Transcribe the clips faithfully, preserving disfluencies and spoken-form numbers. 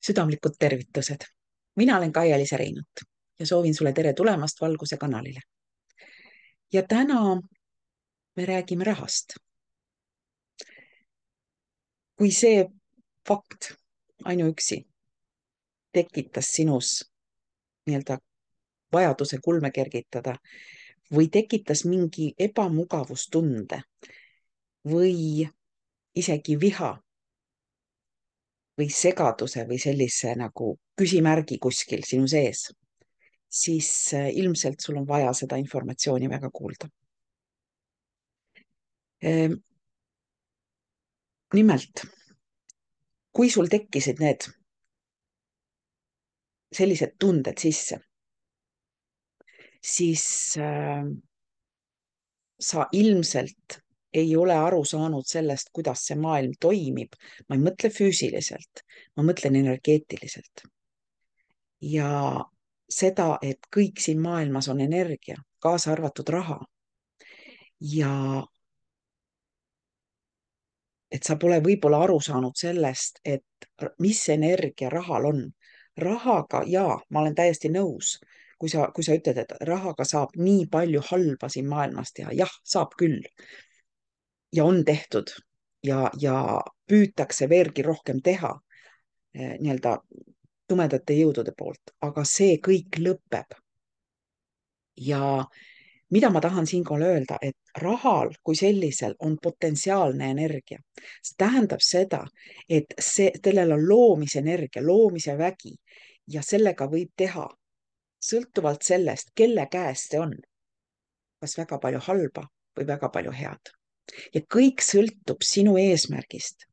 Südamlikud tervitused. Mina olen Kaia-Liisa Reinut ja soovin sulle tere tulemast Valguse kanalile. Ja täna me räägime rahast. Kui see fakt ainuüksi tekitas sinus nii-öelda vajaduse kulme kergitada või tekitas mingi ebamugavustunde või isegi viha või segaduse või sellise nagu küsimärgi kuskil sinu sees, siis ilmselt sul on vaja seda informatsiooni väga kuulda. Nimelt, kui sul tekkisid need sellised tunded sisse, siis äh, sa ilmselt ei ole aru saanud sellest, kuidas see maailm toimib. Ma ei mõtle füüsiliselt, ma mõtlen energeetiliselt. Ja seda, et kõik siin maailmas on energia, kaasa arvatud raha. Ja et sa pole võib-olla aru saanud sellest, et mis energia rahal on. Rahaga, jaa, ma olen täiesti nõus, kui sa, kui sa ütled, et rahaga saab nii palju halba siin maailmas teha. Jah, saab küll. Ja on tehtud ja, ja püütakse veelgi rohkem teha eh, nii-öelda tumedate jõudude poolt, aga see kõik lõpeb. Ja mida ma tahan siinkohal öelda, et rahal kui sellisel on potentsiaalne energia. See tähendab seda, et see, sellel on loomisenergia, loomise vägi ja sellega võib teha sõltuvalt sellest, kelle käes see on. Kas väga palju halba või väga palju head. Ja kõik sõltub sinu eesmärgist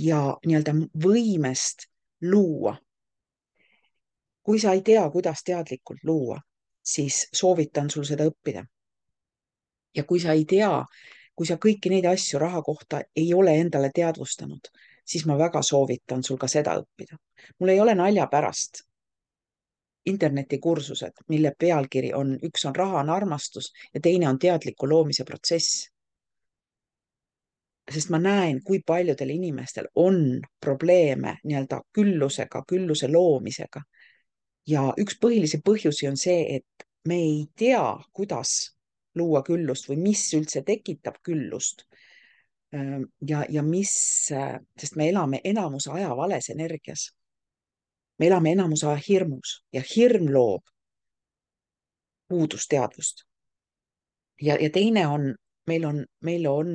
ja nii-öelda võimest luua. Kui sa ei tea, kuidas teadlikult luua, siis soovitan sul seda õppida. Ja kui sa ei tea, kui sa kõiki neid asju raha kohta ei ole endale teadvustanud, siis ma väga soovitan sul ka seda õppida. Mul ei ole nalja pärast internetikursused, mille pealkiri on, üks on raha on armastus ja teine on teadliku loomise protsess. Sest ma näen, kui paljudel inimestel on probleeme nii-öelda küllusega, külluse loomisega. Ja üks põhilisi põhjusi on see, et me ei tea, kuidas luua küllust või mis üldse tekitab küllust. Ja, ja mis, sest me elame enamuse aja vales energias. Me elame enamuse aja hirmus ja hirm loob puudusteadvust. Ja, ja teine on, meil on, meil on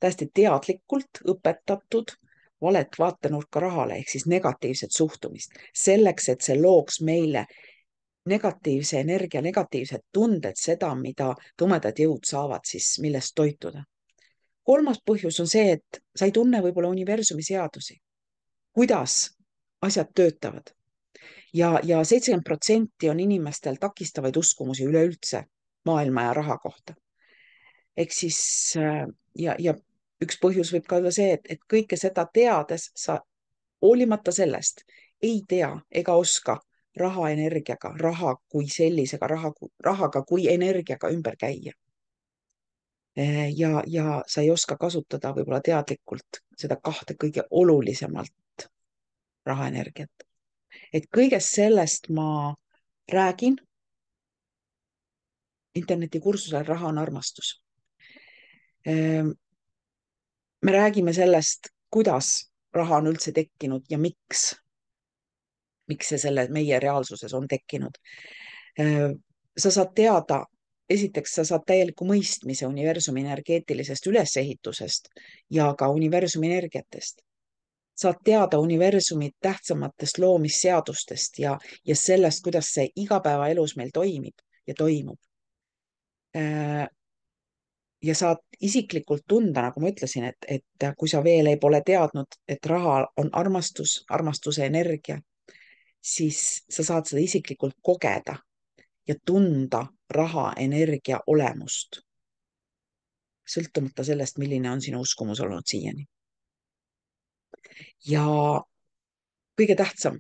täiesti teadlikult õpetatud valet vaatenurka rahale ehk siis negatiivset suhtumist. Selleks, et see looks meile negatiivse energia, negatiivsed tunded, seda, mida tumedad jõud saavad siis millest toituda. Kolmas põhjus on see, et sa ei tunne võib-olla universumi seadusi, kuidas asjad töötavad. Ja, ja seitsekümmend protsenti on inimestel takistavaid uskumusi üleüldse maailma ja raha kohta. Ehk siis, ja, ja üks põhjus võib ka olla see, et, et kõike seda teades sa hoolimata sellest ei tea ega oska raha energiaga, raha kui sellisega, raha, rahaga kui energiaga ümber käia. Ja, ja sa ei oska kasutada võib-olla teadlikult seda kahte kõige olulisemalt rahaenergiat. Et kõigest sellest ma räägin internetikursusel Raha on armastus. Me räägime sellest, kuidas raha on üldse tekkinud ja miks, miks see selle meie reaalsuses on tekkinud. Sa saad teada, esiteks sa saad täieliku mõistmise universumi energeetilisest ülesehitusest ja ka universumi energiatest. Saad teada universumi tähtsamatest loomisseadustest ja, ja sellest, kuidas see igapäevaelus meil toimib ja toimub. Ja saad isiklikult tunda, nagu ma ütlesin, et, et kui sa veel ei pole teadnud, et raha on armastus, armastuse energia, siis sa saad seda isiklikult kogeda ja tunda raha energia olemust. Sõltumata sellest, milline on sinu uskumus olnud siiani. Ja kõige tähtsam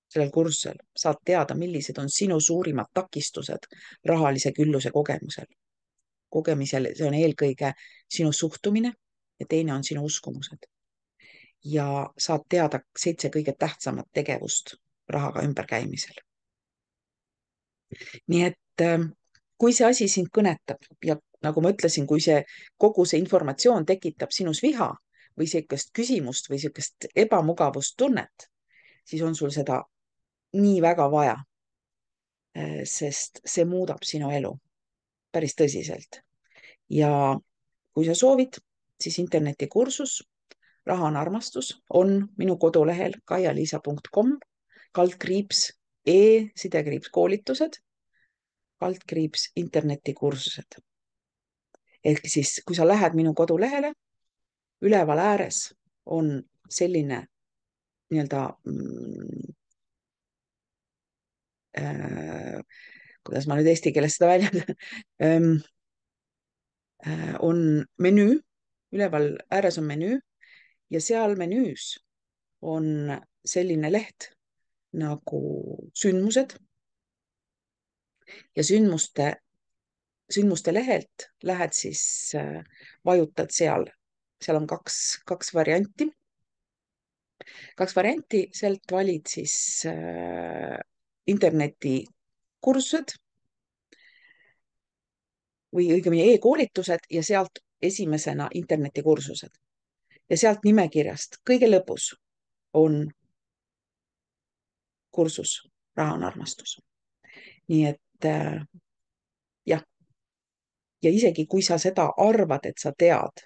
sellel kursusel saad teada, millised on sinu suurimad takistused rahalise külluse kogemusel. kogemisel, see on eelkõige sinu suhtumine ja teine on sinu uskumused. ja saad teada seitse kõige tähtsamat tegevust rahaga ümberkäimisel. nii et äh, kui see asi sind kõnetab ja nagu ma ütlesin, kui see kogu see informatsioon tekitab sinus viha või sihukest küsimust või sihukest ebamugavustunnet, siis on sul seda nii väga vaja, sest see muudab sinu elu päris tõsiselt. ja kui sa soovid, siis internetikursus Raha on armastus on minu kodulehel kaia-liisa punkt com kaldkriips e sidekriips koolitused kaldkriips internetikursused. ehk siis, kui sa lähed minu kodulehele, üleval ääres on selline nii-öelda mm, äh, kuidas ma nüüd eesti keeles seda väljendan ähm, äh, on menüü, üleval ääres on menüü ja seal menüüs on selline leht nagu sündmused ja sündmuste, sündmuste lehelt lähed siis äh,, vajutad seal, seal on kaks, kaks varianti, kaks varianti, sealt valid siis äh, internetikursused või õigemini e-koolitused ja sealt esimesena internetikursused. Ja sealt nimekirjast kõige lõpus on kursus Raha on armastus. nii et äh, jah, ja isegi kui sa seda arvad, et sa tead,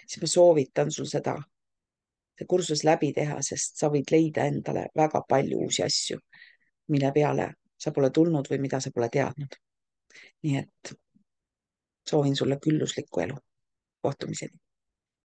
siis ma soovitan sul seda, see kursus läbi teha, sest sa võid leida endale väga palju uusi asju, mille peale sa pole tulnud või mida sa pole teadnud. nii et soovin sulle külluslikku elu. Kohtumiseni.